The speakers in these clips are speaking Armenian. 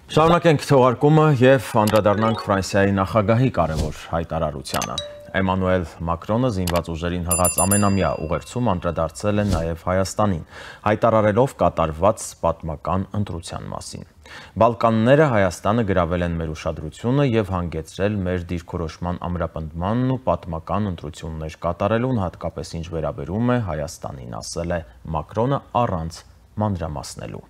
Շարունակենք թողարկումը և անդրադառնանք Ֆրանսիայի նախագահի կարևոր հայտարարությանը։ Էմանուել Մակրոնը զինված ուժերին հղած ամենամյա ուղերձում անդրադարձել է նաև Հայաստանին, հայտարարելով կատարված պատմական ընտրության մասին։ Բալկանները Հայաստանը գրավել են մեր ուշադրությունը և հանգեցրել մեր դիրքորոշման ամրապնդմանն ու պատմական ընտրություններ կատարելուն, հատկապես ինչ վերաբերում է Հայաստանին, ասել է Մակրոնը առանց մանրամասնելու։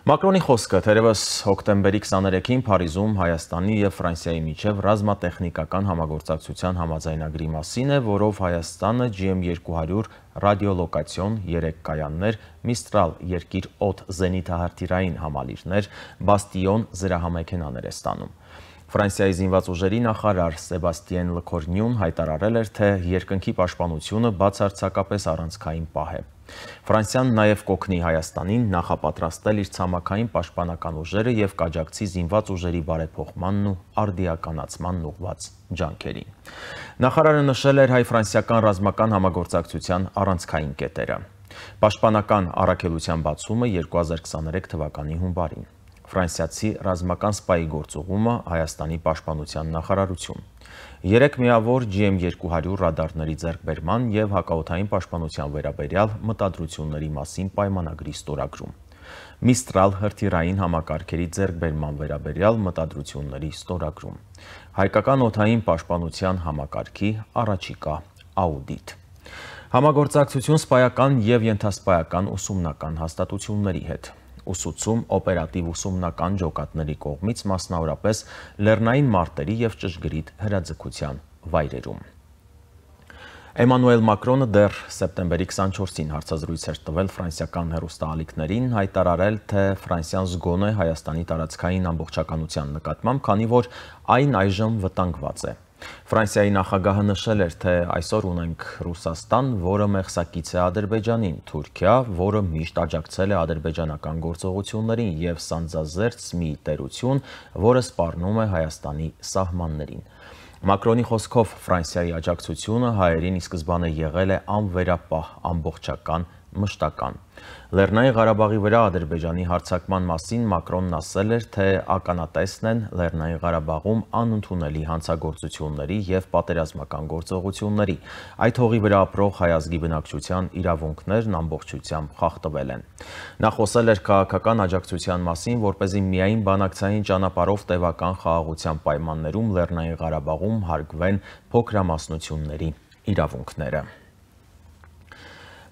Մակրոնի խոսքը թերևս հոկտեմբերի 23-ին Փարիզում Հայաստանի և Ֆրանսիայի միջև ռազմատեխնիկական համագործակցության համաձայնագրի մասին է, որով Հայաստանը GM200 ռադիոլոկացիոն 3 կայաններ, Միստրալ երկիր օդ զենիթահրթիռային համալիրներ, Բաստիոն զրահամեքենաներ է ստանում։ Ֆրանսիայի զինված ուժերի նախարար Սեբաստիեն Լքորնյուն հայտարարել էր, թե երկնքի պաշտպանությունը բացարձակապես առանցքային պահ է։ Ֆրանսիան նաև կօգնի Հայաստանին նախապատրաստել իր ցամաքային պաշտպանական ուժերը և կաջակցի զինված ուժերի բարեփոխմանն ու արդիականացմանն ուղղված ջանքերին։ Նախարարը նշել էր հայ-ֆրանսիական ռազմական համագործակցության առանցքային կետերը։ Պաշտպանական առաքելության բացումը 2023 թվականի հունվարին։ Ֆրանսիացի ռազմական սպայի գործուղումը Հայաստանի պաշտպանության նախարարություն։ 3 միավոր GM200 ռադարների ձեռքբերման և հակաօդային պաշտպանության վերաբերյալ մտադրությունների մասին պայմանագրի ստորագրում։ Միստրալ հրթիռային համակարգերի ձեռքբերման վերաբերյալ մտադրությունների ստորագրում։ Հայկական օդային պաշտպանության համակարգի առաջիկա աուդիտ։ Համագործակցություն սպայական և ենթասպայական ուսումնական հաստատությունների հետ։ Ուսուցում օպերատիվ ուսումնական ջոկատների կողմից, մասնավորապես լեռնային մարտերի և ճշգրիտ հրաձգության վայրերում։ Էմանուել Մակրոնը դեռ սեպտեմբերի 24-ին հարցազրույց էր տվել ֆրանսիական հեռուստաալիքներին, հայտարարել, թե Ֆրանսիան զգոն է Հայաստանի տարածքային ամբողջականության նկատմամբ, քանի որ այն այժմ վտանգված է։ Ֆրանսիայի նախագահը նշել էր, թե այսօր ունենք Ռուսաստան, որը մեղսակից է Ադրբեջանին, Թուրքիա, որը միշտ աջակցել է ադրբեջանական գործողություններին, և սանձազերծ մի տերություն, որը սպառնում է Հայաստանի սահմաններին։ Մակրոնի խոսքով Ֆրանսիայի աջակցությունը հայերին ի սկզբանե եղել է անվերապահ, ամբողջական, մշտական։ Լեռնային Ղարաբաղի վրա Ադրբեջանի հարձակման մասին Մակրոնն ասել էր, թե ականատեսն են Լեռնային Ղարաբաղում անընդունելի հանցագործությունների և պատերազմական գործողությունների։ Այդ հողի վրա ապրող հայ ազգի բնակչության իրավունքներն ամբողջությամբ խախտվել են։ Նա խոսել էր քաղաքական աջակցության մասին, որպեսզի միայն բանակցային ճանապարհով տևական խաղաղության պայմաններում Լեռնային Ղարաբաղում հարգվեն փոքրամասնությունների իրավունքները։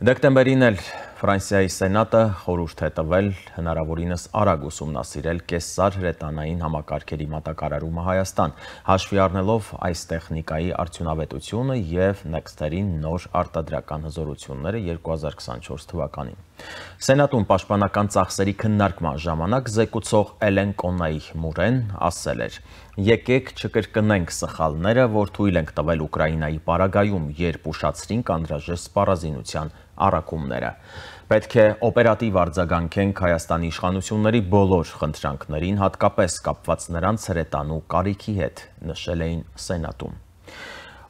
Դեկտեմբերին էլ Ֆրանսիայի Սենատը խորհուրդ է տվել հնարավորինս արագ ուսումնասիրել կեսար հրետանային համակարգերի մատակարարումը Հայաստան, հաշվի առնելով այս տեխնիկայի արդյունավետությունը և Nexter-ի նոր արտադրական հզորությունները 2024 թվականին։ Սենատում պաշտպանական ծախսերի քննարկման ժամանակ զեկուցող Էլեն Կոննայի-Մուրեն ասել էր. «Եկեք չկրկնենք սխալները, որ թույլ ենք տվել Ուկրաինայի պարագայում, երբ ուշացրինք անհրաժեշտ սպառազինության առաքումները։ Պետք է օպերատիվ արձագանքենք Հայաստանի իշխանությունների բոլոր խնդրանքներին, հատկապես կապված նրանց հրետանու կարիքի հետ», նշել էին Սենատում։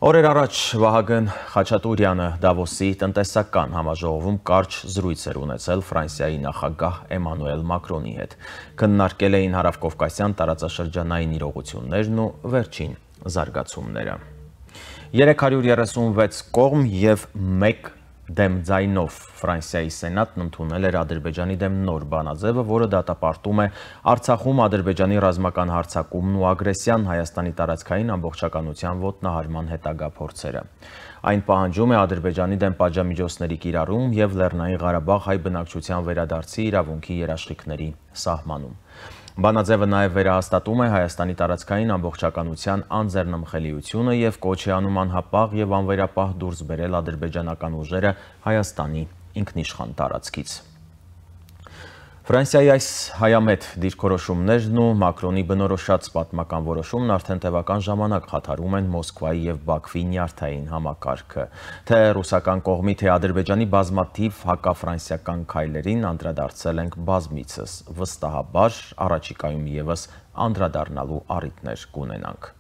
Օրեր առաջ Վահագն Խաչատուրյանը Դավոսի տնտեսական համաժողովում կարճ զրույց էր ունեցել Ֆրանսիայի նախագահ Էմանուել Մակրոնի հետ։ Քննարկել էին հարավկովկասյան տարածաշրջանային իրողություններն ու վերջին զարգացումները։ 336 կողմ և 1 դեմ ձայնով Ֆրանսիայի Սենատն ընդունել էր Ադրբեջանի դեմ նոր բանաձևը, որը դատապարտում է Արցախում Ադրբեջանի ռազմական հարձակումն ու ագրեսիան, Հայաստանի տարածքային ամբողջականության ոտնահարման հետագա փորձերը։ Այն պահանջում է Ադրբեջանի դեմ պատժամիջոցների կիրառում և Լեռնային Ղարաբաղ հայ բնակչության վերադարձի իրավունքի երաշխիքների սահմանում։ Բանաձևը նաև վերահաստատում է Հայաստանի տարածքային ամբողջականության անձեռնմխելիությունը և կոչ է անում անհապաղ և անվերապահ դուրս բերել ադրբեջանական ուժերը Հայաստանի ինքնիշխան տարածքից։ Ֆրանսիայի այս հայամետ դիրքորոշումներն ու Մակրոնի բնորոշած պատմական որոշումն արդեն տևական ժամանակ խաթարում են Մոսկվայի և Բաքվի նյարդային համակարգը։ Թե ռուսական կողմի, թե Ադրբեջանի բազմաթիվ հակաֆրանսիական քայլերին անդրադարձել ենք բազմիցս, վստահաբար առաջիկայում ևս անդրադառնալու առիթներ կունենանք։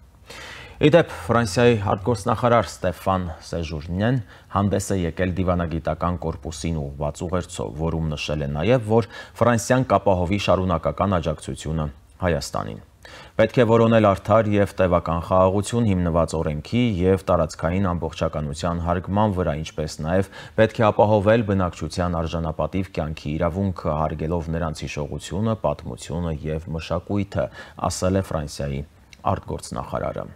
Իդեպ Ֆրանսիայի արտգործնախարար Ստեֆան Սեժուրնեն հանդես է եկել դիվանագիտական կորպուսին ուղղված ուղերձով, որում նշել է նաև, որ Ֆրանսիան կապահովի շարունակական աջակցությունը Հայաստանին։ Պետք է որոնել արդար և տևական խաղաղություն հիմնված օրենքի և տարածքային ամբողջականության հարգման վրա, ինչպես նաև պետք է ապահովել բնակչության արժանապատիվ կյանքի իրավունքը, հարգելով նրանց հիշողությունը, պատմությունը և մշակույթը, ասել է Ֆրանսիայի արտգործնախարարը։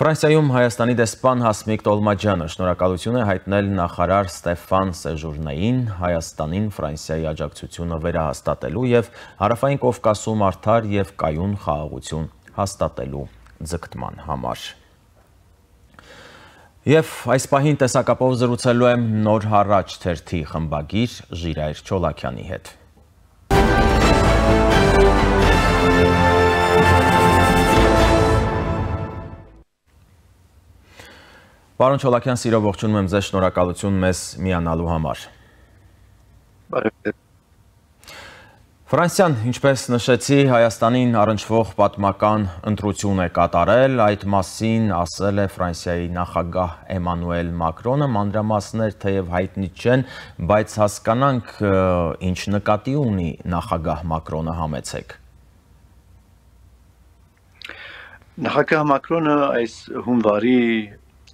Ֆրանսիայում Հայաստանի դեսպան Հասմիկ Տոլմաջյանը շնորհակալություն է հայտնել նախարար Ստեֆան Սեժուրնեին Հայաստանին Ֆրանսիայի աջակցությունը վերահաստատելու և Հարավային Կովկասում արդար և կայուն խաղաղություն հաստատելու ձգտման համար։ Եվ այս պահին տեսակապով զրուցելու եմ Նոր հարաճ թերթի խմբագիր Ժիրայր Չոլակյանի հետ։ Պարոն Չոլակյան, սիրով ողջունում եմ ձեզ, շնորհակալություն մեզ միանալու համար։ Ֆրանսիան, ինչպես նշեցի, Հայաստանին առնչվող պատմական ընտրություն է կատարել, այդ մասին ասել է Ֆրանսիայի նախագահ Էմանուել Մակրոնը, մանրամասներ թեև հայտնի չեն, բայց հասկանանք ինչ նկատի ունի նախագահ Մակրոնը, համեցեք։ Նախագահ Մակրոնը այս հունվարի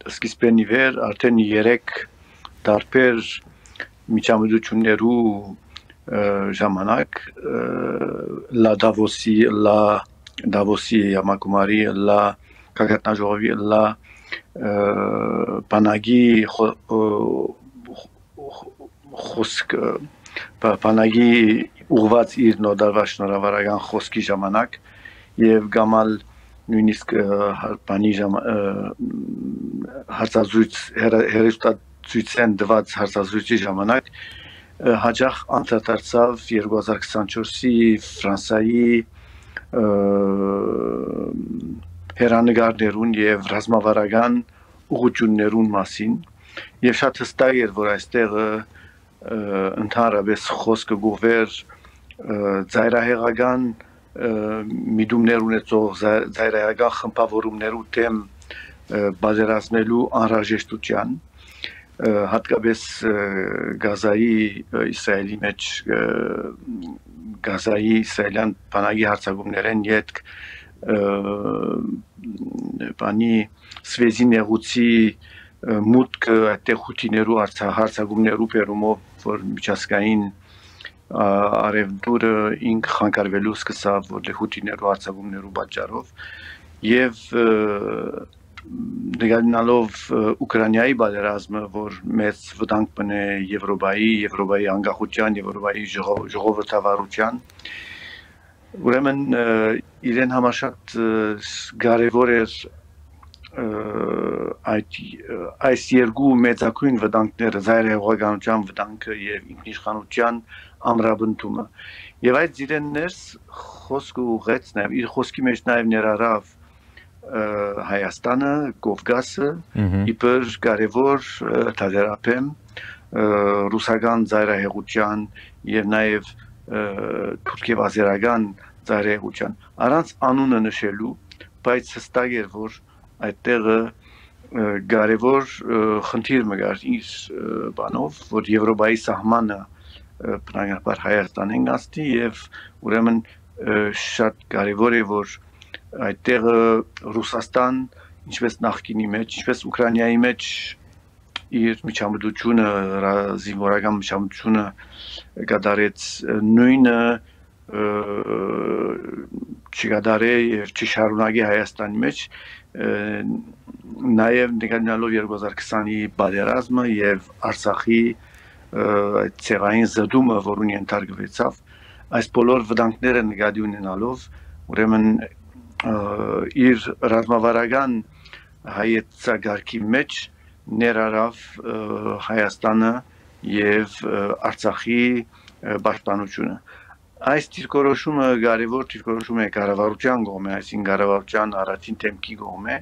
սկիզբեն ի վեր արդեն 3 տարբեր միջամտություններու ժամանակ Դավոսի համագումարի գագաթնաժողովի բանակի բանակի ուղղված իր նորդարվա շնորհավորական խոսքի ժամանակ եւ գամալ նույնիսկ բանի հերոստատուցության դված հարցազրույցի ժամանակ հաջող անդրադարձավ 2024-ի Ֆրանսիայի հերանեկարներուն եւ ռազմավարական ուղղություններուն մասին եւ շատ հստակ էր, որ այստեղ ընդհանրապես խոսքը գուվեր ծայրահեղական միտումներ ունեցող ծայրահեղական խմբավորումներու դեմ բادرազմելու անհրաժեշտության հատկապես Գազայի Իսրայելի մեջ Գազայի իսրայելյան բանակի հարձակումներեն յետք բանի Սվեզի նեղուցի մուտքը այդտեղ հութիներու հարձակումներու բերումով որ միջազգային արևդուրը ինք խանգարվելու սկսավ որ հութիներու հարձակումներու պատճառով եւ նկատելով Ուկրաինայի պատերազմը որ մեծ վտանգ բնե Եվրոպայի անկախության Եվրոպայի ժողովրդավարության ուրեմն իրեն համար շատ կարևոր էր այս երկու մեծակույն վտանգները ծայրահեղականության վտանգը եւ ինքնիշխանության ամրապնդումը եւ այդ իրեններս խոսքը ուղեց նաեւ իր խոսքի մեջ նաեւ ներառավ Հայաստանը, Կովկասը, իբր կարևոր թագերապեմ ռուսական ծայրահեղության եւ նաեւ թուրքեվազերական ծայրահեղության առանց անունը նշելու, բայց հստակ էր որ այդտեղը կարևոր խնդիր մգար իր բանով, որ Եվրոպայի սահմանը բնականաբար Հայաստանին գաստի եւ ուրեմն շատ կարևոր է որ այդտեղը Ռուսաստան ինչպես նախկինի մեջ, ինչպես Ուկրաինայի մեջ իր միջամտությունը, զինվորական միջամտությունը կատարեց նույնը չկատարե եւ չշարունակի Հայաստանի մեջ նաեւ նկատելով 2020-ի պատերազմը եւ Արցախի այդ ցեղային զդումը, որուն ենթարկվեցավ, այս բոլոր վտանգները նկատի ունենալով ուրեմն իր ռազմավարական հայեցակարգի մեջ ներառավ Հայաստանը եւ Արցախի պաշտպանությունը այս դիրքորոշումը կարևոր դիրքորոշում է կառավարության կողմէ, այսինքն կառավարության առաջին դեմքի կողմէ,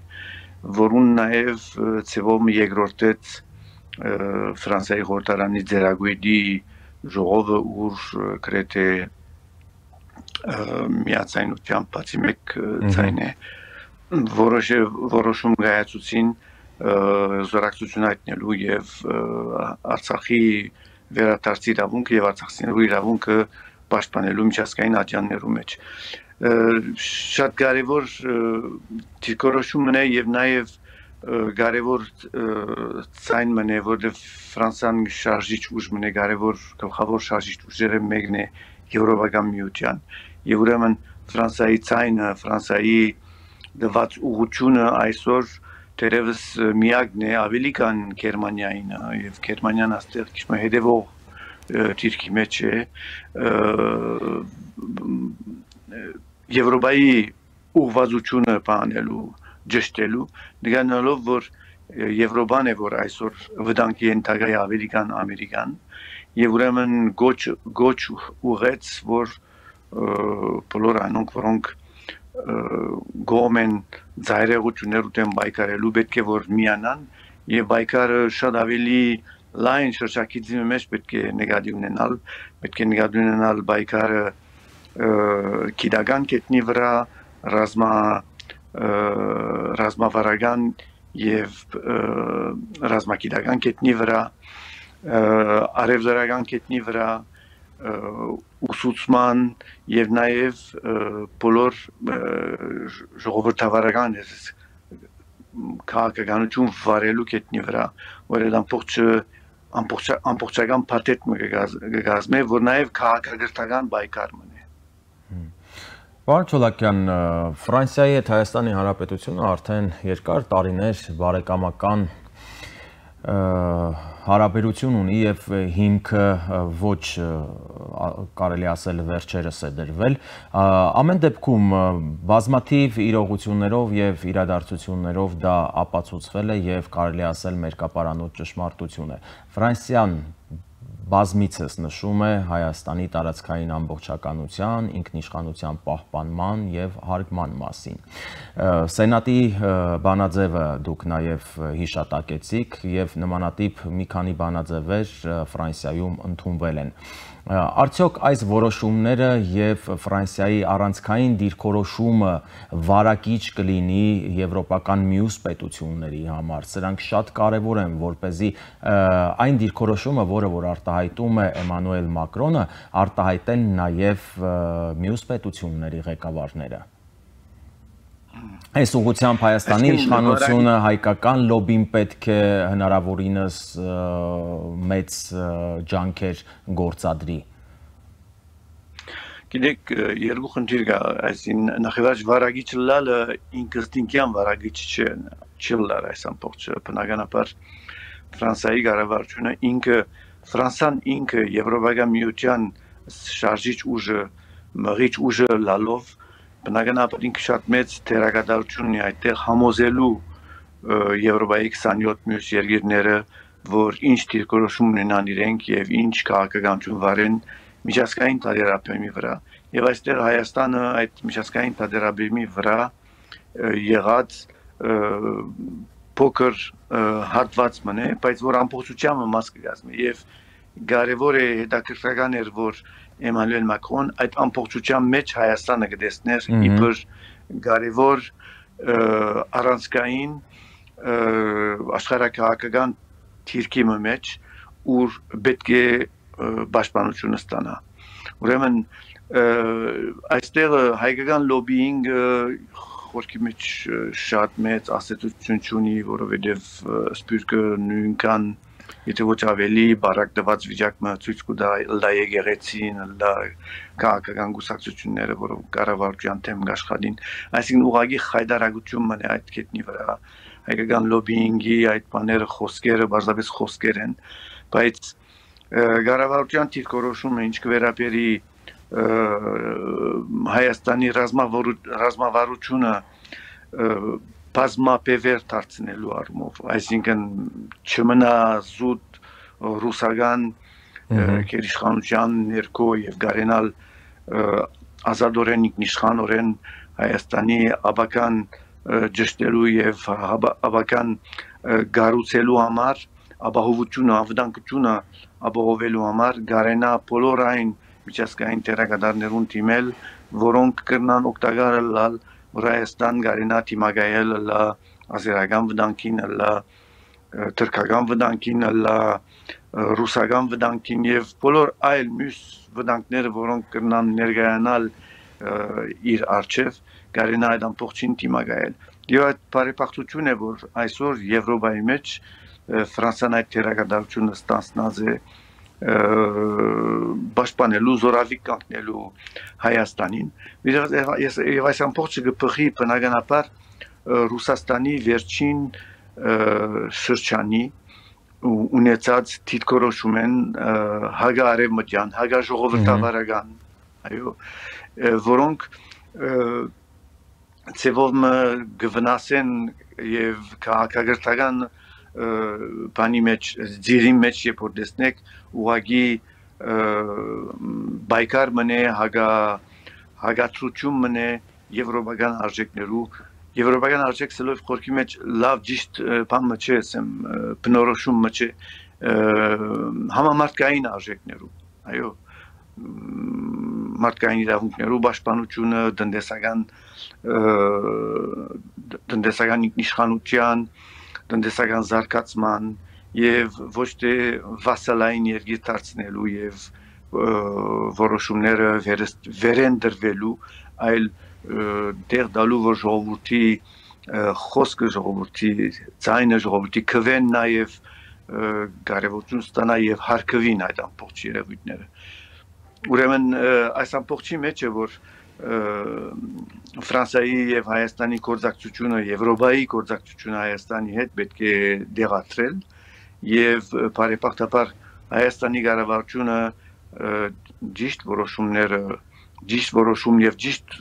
որուն նաեւ ծևոմ երկրորդեց Ֆրանսիայի խորհրդարանի ձեռագույտի ժողովը ուր գրեթե միացայնությամբ բացի մեկ ցայն է որոշում գայացուցին զորակցություն հայտնելու եւ Արցախի վերադարձի իրավունքը եւ արցախցիներու իրավունքը պաշտպանելու միջազգային ատյաններու մեջ շատ կարևոր դիրքորոշումն է եւ նաեւ կարևոր ցայն մնե որտեղ Ֆրանսիան շարժիչ ուժ մնե կարևոր գլխավոր շարժիչ ուժերը մեկն է Եվրոպական միության եւ ուրեմն Ֆրանսիայի ցայնը Ֆրանսիայի դված ուղղությունը այսօր դերևս միակն է ավելի քան Գերմանիային եւ Գերմանիան աստեղ քիչ հետեւող դիրքի մեջ է Եվրոպայի ուղղվածությունը բանելու ճշտելու դրանով որ Եվրոպան է որ այսօր վտանգի ենթակա է ավելի քան Ամերիկան եւ ուրեմն գոչ ուղեց որ բոլոր անոնք որոնք գոմեն ծայրեղություններ ուտեն բայկարելու պետք է որ միանան եւ բայկարը շատ ավելի լայն շրջակցի մեջ պետք է նկատի ունենալ բայկարը գիտական կետնի վրա ռազմավարական եւ ռազմագիտական կետնի վրա արևելական կետնի վրա ուսուցման եւ նաեւ բոլոր ժողովրդավարական քաղաքականություն վարելու կետնի վրա որ ամբողջական փաթեթ կգազմե որ նաեւ քաղաքագրթական բայկար մնե Պարոն Չոլակյան, Ֆրանսիայի հետ Հայաստանի Հանրապետությունը արդեն երկար տարիներ բարեկամական հարաբերություն ունի եւ հիմքը ոչ կարելի ասել վերջերս է դրվել ամեն դեպքում բազմաթիվ իրողություններով եւ իրադարձություններով դա ապացուցվել է եւ կարելի ասել մերկապարանոց ճշմարտություն է Ֆրանսիան բազմիցս նշում է Հայաստանի տարածքային ամբողջականության, ինքնիշխանության պահպանման եւ հարգման մասին։ Սենատի բանաձևը դուք նաեւ հիշատակեցիք եւ նմանատիպ մի քանի բանաձևեր Ֆրանսիայում ընդունվել են։ Արդյոք այս որոշումները եւ Ֆրանսիայի առանցքային դիրքորոշումը վարակիչ կլինի եվրոպական մյուս պետությունների համար։ Սրանք շատ կարեւոր են, որպեսզի այն դիրքորոշումը, որը որ արտահայտում է Էմանուել Մակրոնը, արտահայտեն նաեւ մյուս պետությունների ղեկավարները։ Այս ուղղությամբ Հայաստանի իշխանությունը հայկական լոբին պետք է հնարավորինս մեծ ջանքեր գործադրի։ Գիտեք, երկու խնդիր կա, այսին նախևաճ վարագիչ լալը ինքնստինքյան վարագիչ չի լալ այս ամբողջը, բնականաբար Ֆրանսիայի կառավարությունը Ֆրանսիան ինքը Եվրոպական միության շարժիչ ուժը, մղիչ ուժը լալով բնականաբար ինքը շատ մեծ դերակատարություն ունի այդտեղ համոզելու Եվրոպայի 27 մյուս երկիրները, որ ինչ դիրքորոշում ունենան իրենք եւ ինչ քաղաքականություն վարեն միջազգային տարբերակի վրա։ Եվ այստեղ Հայաստանը այդ միջազգային տարբերակի վրա եղած փոքր հատված մնե, բայց որ ամբողջությամբ մաս կգազմի եւ կարևոր է հետաքրքրական էր որ Էմանուել Մակրոն այդ ամբողջության մեջ Հայաստանը կտեսներ իբր կարևոր առանցքային աշխարհակահաղական թիրքի մեջ ուր պետք է պաշտպանությունը ստանա ուրեմն այստեղ հայկական լոբինգը խորքի մեջ շատ մեծ ասացություն ունի որովհետև սպյուրքը նույնքան Եթե ոչ ավելի բարակ դված վիճակը ցույց կտա եկեղեցին, քաղաքական գուսակցությունները, որոնք կառավարության թեմ աշխատին, այսինքն ուղղակի խայդարագություն մնա այդ կետնի վրա, հայկական լոբինգի այդ բաները խոսքերը, բարձրապես խոսքեր են, բայց կառավարության դիրքորոշումը ինչ կվերապերի Հայաստանի ռազմավարությունը բազմապևեր դարձնելու առումով, այսինքն չմնա զուտ ռուսական գերիշխանության ներքո եւ գարենալ ազատորեն ինքնիշխանորեն Հայաստանի աբական ճշտելու եւ աբական գառուցելու համար, ապահովությունը, անվտանգությունը ապահովելու համար գարենա բոլոր այն միջազգային դերակատարներուն դիմել, որոնք կրնան օգտակար լալ որ Հայաստան գարենա թիմագայել լա ազերական վտանգին, լա թրքական վտանգին, լա ռուսական վտանգին եւ բոլոր այլ մյուս վտանգները, որոնք կրնան ներկայանալ իր արչեւ գարենա այդ ամբողջին թիմագայել։ Եվ այդ բարեփոխություն է, որ այսօր Եվրոպայի մեջ Ֆրանսիան այդ թերակատարությունը ստանձնած է պաշտպանելու, զորավի կանգնելու Հայաստանին։ Եվ այս ամբողջը կփխի բնականաբար Ռուսաստանի վերջին շրջանի ունեցած դիրքորոշում են հագարևմտյան, հագաժողովրդավարական, այո, որոնք ծևով գվնասեն եւ քաղաքական բանի մեջ, ձիրի մեջ երբ որ տեսնեք ուղագի բայկար մնե հագացություն մնե եվրոպական արժեք սելով խորքի մեջ լավ ճիշտ բան մը չէ, ասեմ բնորոշում մը չէ համամարտկային արժեքներու, այո մարդկային իրավունքներու պաշտպանությունը, տնտեսական ինքնիշխանության, տնտեսական զարգացման եւ ոչ թե վասալային երկիր դարձնելու եւ որոշումները վերեն դրվելու, այլ դեր դալու որ ժողովրդի խոսքը, ժողովրդի ձայնը, ժողովրդի քվեն նաեւ կարևորություն ստանա եւ հարկվին այդ ամբողջ երևույթները։ Ուրեմն այս ամբողջի մեջ է որ Ֆրանսիայի եւ Հայաստանի գործակցությունը, Եվրոպայի գործակցությունը Հայաստանի հետ պետք է դեղատրել եւ բարեփոխաբար Հայաստանի կառավարությունը ճիշտ որոշումները, ճիշտ որոշում եւ ճիշտ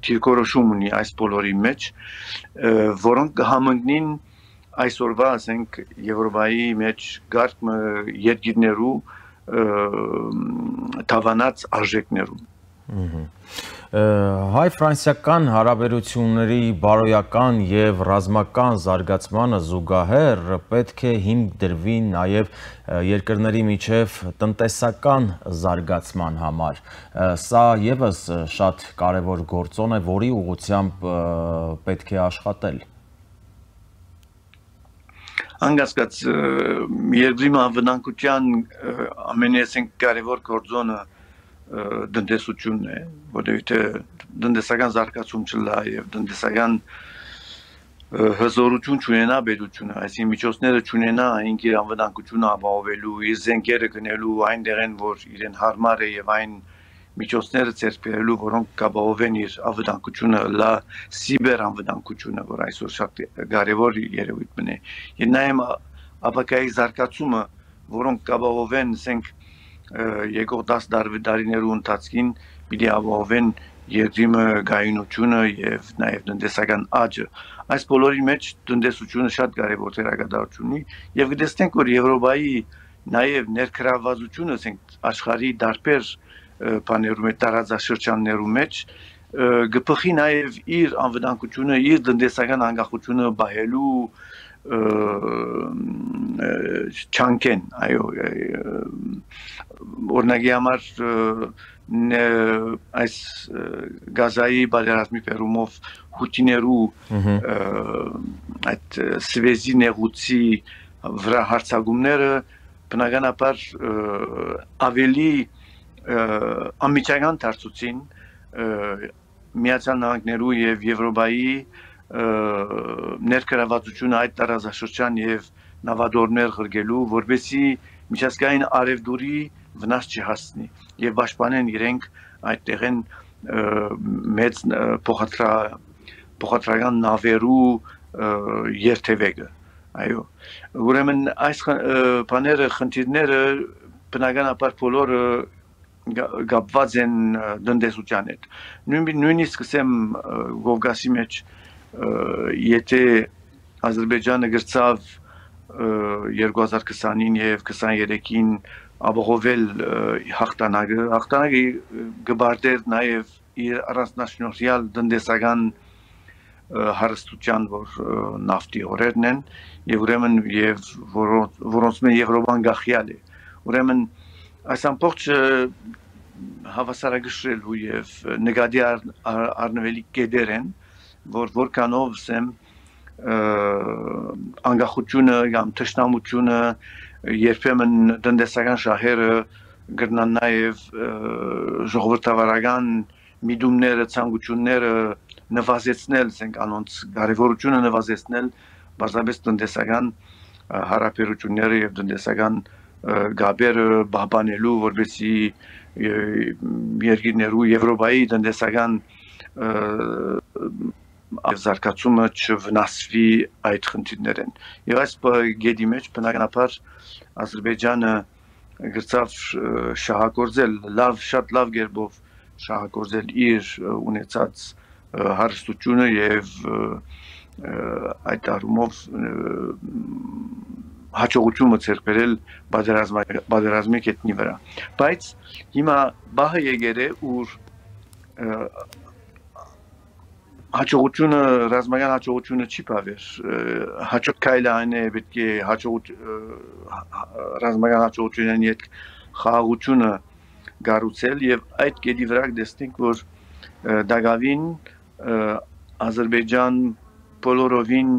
դիրքորոշում ունի այս բոլորի մեջ, որոնք կհամընկնին այսօրվա, ասենք, Եվրոպայի մեջ գարկ երկիրներու թավանած արժեքներում։ Հայ-ֆրանսիական հարաբերությունների բարոյական եւ ռազմական զարգացմանը զուգահեռ պետք է հիմք դրվի նաեւ երկրների միջև տնտեսական զարգացման համար։ Սա եւս շատ կարեւոր գործոն է, որի ուղղությամբ պետք է աշխատել։ Անկասկած երկրի անվտանգության ամենասենք կարևոր գործոնը տնտեսությունն է, որովհետեւ տնտեսական զարգացում չլա եւ տնտեսական հզորություն չունենա պետությունը, այսինքն միջոցները չունենա այն իր անվտանգությունը ապահովելու, իր զենքերը գնելու այնտեղեն, որ իրեն հարմար է եւ այն միջոցները ցերպելու, որոնք կապահովեն իր անվտանգությունը, լա սիբեր անվտանգությունը, որ այսօր շատ կարևոր երևույթ մնե։ Եվ նաեւ ապակայի զարգացումը, որոնք կապահովեն, ասենք, եկող 10 տարիներու ընթացքին պիտի ապահովեն երկրի գայունությունը եւ նաեւ տնտեսական աճը։ Այս բոլորի մեջ տնտեսությունը շատ կարևոր դերակատարություն ունի եւ գտեսնենք, որ Եվրոպայի նաեւ ներքրավածությունը, ասենք, աշխարհի դարբեր բաներում, տարածաշրջաններում մեջ գփխի նաեւ իր անվտանգությունը, իր տնտեսական անկախությունը բահելու չանկեն, այո, օրինակի համար այս գազայի բادرազմի պերումով հուտիներու այդ սվեզի նեղուցի վրա հարձակումները բնականաբար ավելի ամիջական դարձուցին Միացյալ Նահանգներու եւ Եվրոպայի ներկայացությունը այդ տարածաշրջան եւ նավադորներ ղրգելու, որբեսի միջազգային արևդուրի վնաս չհասնի եւ պաշտպանեն իրենք այդտեղեն մեծ փոխադրական նավերու երթևեկը, այո, ուրեմն այս բաները, խնդիրները բնականաբար բոլորը գապված են տնտեսության հետ։ Նույնիսկ ասեմ Կովկասի մեջ եթե Ադրբեջանը գրծավ 2020-ին եւ 23-ին ապահովել հաղթանակը գբարտեր նաեւ իր առանձնաշնորհյալ տնտեսական հարստության, որ նավթի օրերն են եւ ուրեմն եւ որոնց մեն Եվրոպան գախյալ է։ Ուրեմն այս ամբողջ հավասարակշռելու եւ նկատի առնվելի կետեր են, որ որքանով ասեմ անկախությունը կամ թշնամությունը երբեմն տնտեսական շահերը գրնան նաև ժողովրդավարական միտումները, ցանկությունները նվազեցնել, ասենք անոնց կարևորությունը նվազեցնել, բացապես տնտեսական հարաբերությունները եւ տնտեսական գաբերը բաբանելու, որովհետեւ երկիրներու Եվրոպայի տնտեսական զարգացումը չվնասվի այդ խնդիրներեն։ Եվ այս գեդի մեջ բնականաբար Ադրբեջանը գրծավ շահագործել շատ լավ կերպով շահագործել իր ունեցած հարստությունը եւ այդ առումով հաջողությունը ձեռք բերել պատերազմի կետնի վրա։ Բայց հիմա բահը եկել է ուր հաջողությունը ռազմական հաջողությունը չի բավեր հաջող քայլը այն է պետք է ռազմական հաջողությունն հետ խաղաղությունը գառուցել եւ այդ կետի վրա դեսնենք որ դակավին Ադրբեջան բոլորովին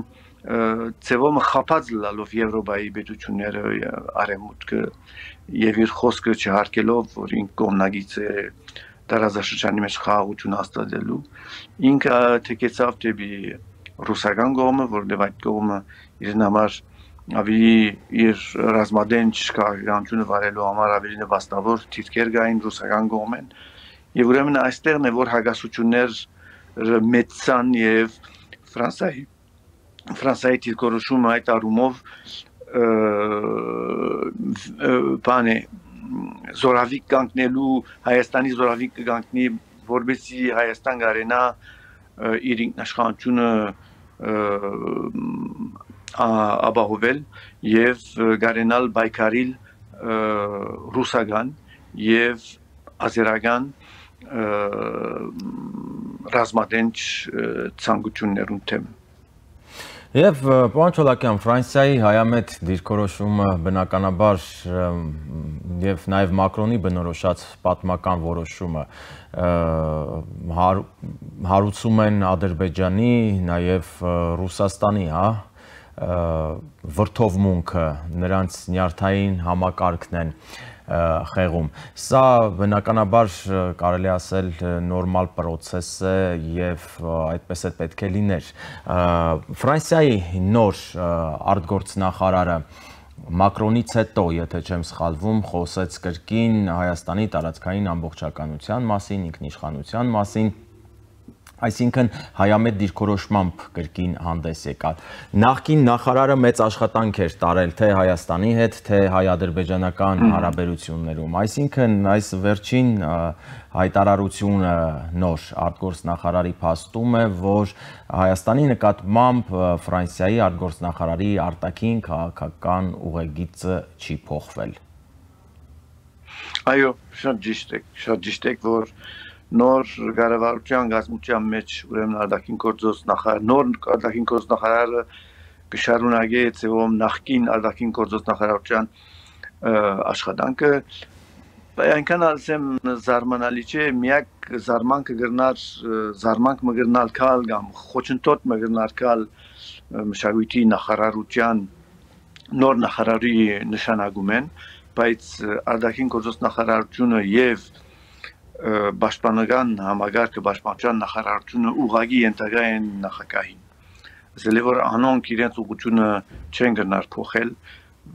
ծևոմը խափած լալով Եվրոպայի պետությունները արևմուտքը եւ իր խոսքը չհարկելով որ ինք կողմնագից է տարածաշրջանի մեջ խաղաղություն հաստատելու ինքը թեկեցավ դեպի ռուսական կողմը որովհետեւ այդ կողմը իրեն համար ավելի իր ռազմադենչ քաղաքականությունը վարելու համար ավելի նպաստավոր դիրքեր կային ռուսական կողմեն եւ ուրեմն այստեղն է որ հագասություններ մեծան եւ Ֆրանսիայի դիրքորոշումը այդ առումով բան է զորավիկ կանգնելու Հայաստանի զորավիկ կգանքնի որբեսի Հայաստան գարենա իր ինքնաշխատությունը ապահովել եւ գարենալ բայկարիլ ռուսական եւ ազերական ռազմադենչ ցանկություններուն թեմ Եվ պարոն Չոլակյան, Ֆրանսիայի հայամետ դիրքորոշումը բնականաբար եւ նաեւ Մակրոնի բնորոշած պատմական որոշումը հարուցում են Ադրբեջանի, նաեւ Ռուսաստանի, վրթովմունքը, նրանց նյարդային համակարգն են խեղում։ Սա բնականաբար կարելի ասել նորմալ պրոցես է եւ այդպես է պետք է լիներ։ Ֆրանսիայի նոր արտգործնախարարը Մակրոնից հետո, եթե չեմ սխալվում, խոսեց կրկին Հայաստանի տարածքային ամբողջականության մասին, ինքնիշխանության մասին, այսինքն հայամետ դիրքորոշմամբ կրկին հանդես եկալ։ Նախկին նախարարը մեծ աշխատանք էր տարել թե Հայաստանի հետ, թե հայ-ադրբեջանական հարաբերություններում, այսինքն այս վերջին հայտարարությունը նոր արտգործնախարարի փաստում է, որ Հայաստանի նկատմամբ Ֆրանսիայի արտգործնախարարի արտաքին քաղաքական ուղեգիծը չի փոխվել։ Այո, շատ ճիշտ է, որ նոր կառավարության գազམ մեջ ուրեմն արտաքին գործոս նախարար նոր արտաքին գործոս նախարարը կշարունակի ծեվում նախկին արտաքին գործոս նախարարության աշխատանքը այնքան ասեմ զարմանալի չէ միակ զարմանքը զարմանք մգրնալ կալ կամ խոչընդոտ մգրնալ կալ մշակույթի նախարարության նոր նախարարի նշանակում են բայց արտաքին գործոս նախարարությունը եւ Պաշտպանական համագարկը պաշտպանության նախարարությունը ուղղակի ենթակա են նախագահին։ Ասել է որ անոնք իրենց ուղղությունը չեն գնար փոխել,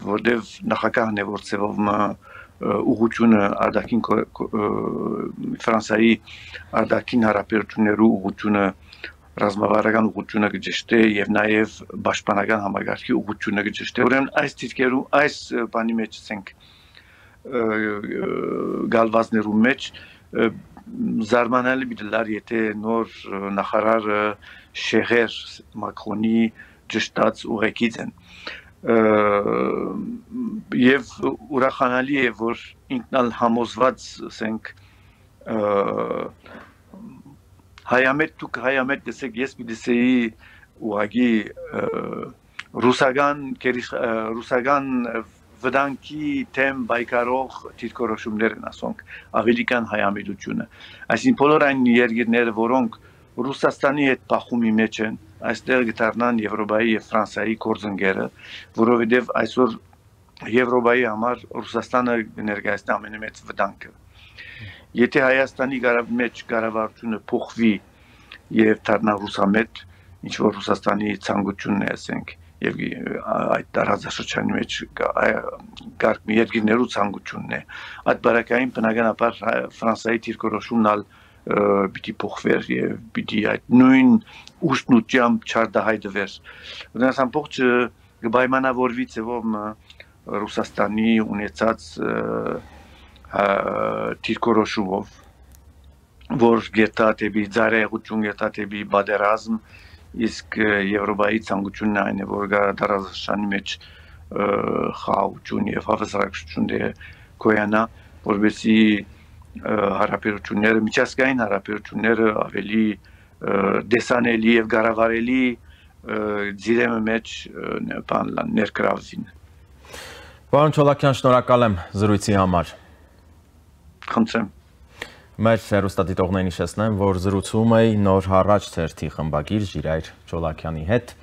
որտեվ նախագահն է որ ծևով ուղղությունը արտաքին Ֆրանսիայի արտաքին հարաբերություններու ուղղությունը ռազմավարական ուղղությունը կճշտե եւ նաեւ պաշտպանական համագարկի ուղղությունը կճշտե։ Ուրեմն այս դիրքերու այս բանի մեջ ասենք գալվազներու մեջ զարմանալի բիդլար եթե նոր նախարարը շեղեր Մակրոնի ճշտած ուղեկից են եւ ուրախանալի է որ ինքնալ համոզված ասենք հայամետ դեսեք ես պիտի ուղագի ռուսական վտանգի թեմ բայկարող դիրքորոշումներ են ասոնք ավելի կան հայամետությունը այսինքն բոլոր այն երկիրները որոնք Ռուսաստանի հետ փախումի մեջ են, այստեղ գտարնան Եվրոպայի եւ Ֆրանսիայի գործընկերը, որովհետեւ այսօր Եվրոպայի համար Ռուսաստանը ներկայացնում ամենամեծ վտանգը։ Եթե Հայաստանի մեջ կառավարությունը փոխվի եւ դառնա ռուսամետ, ինչ որ Ռուսաստանի ցանկությունն է, ասենք, եւ այդ տարածաշրջանի մեջ կարգ երկրներու ցանկությունն է, այդ բարակային բնականաբար Ֆրանսիայի դիրքորոշումն պիտի փոխվեր եւ պիտի այդ նույն ուշնությամբ չարդահայտվեր։ Դրանց ամբողջը կպայմանավորվի ձևով Ռուսաստանի ունեցած դիրքորոշումով, որ գետա դեպի ծառայություն, գետա դեպի բادرազմ, իսկ Եվրոպայի ցանկությունն այն է, որ տարածաշրջանի մեջ խաղաղություն եւ հավասարակշռություն կոյանա, որովհետեւ հարաբերությունները, միջազգային հարաբերությունները ավելի դեսանելի եւ գարավարելի ձիրեմը մեջ ներկրավվին։ Պարոն Չոլակյան, շնորհակալ եմ զրույցի համար։ Խնդրեմ։ Մեր հեռուստադիտողներին հիշեցնեմ, որ զրուցում էի Նոր հարաճ թերթի խմբագիր Ժիրայր Չոլակյանի հետ։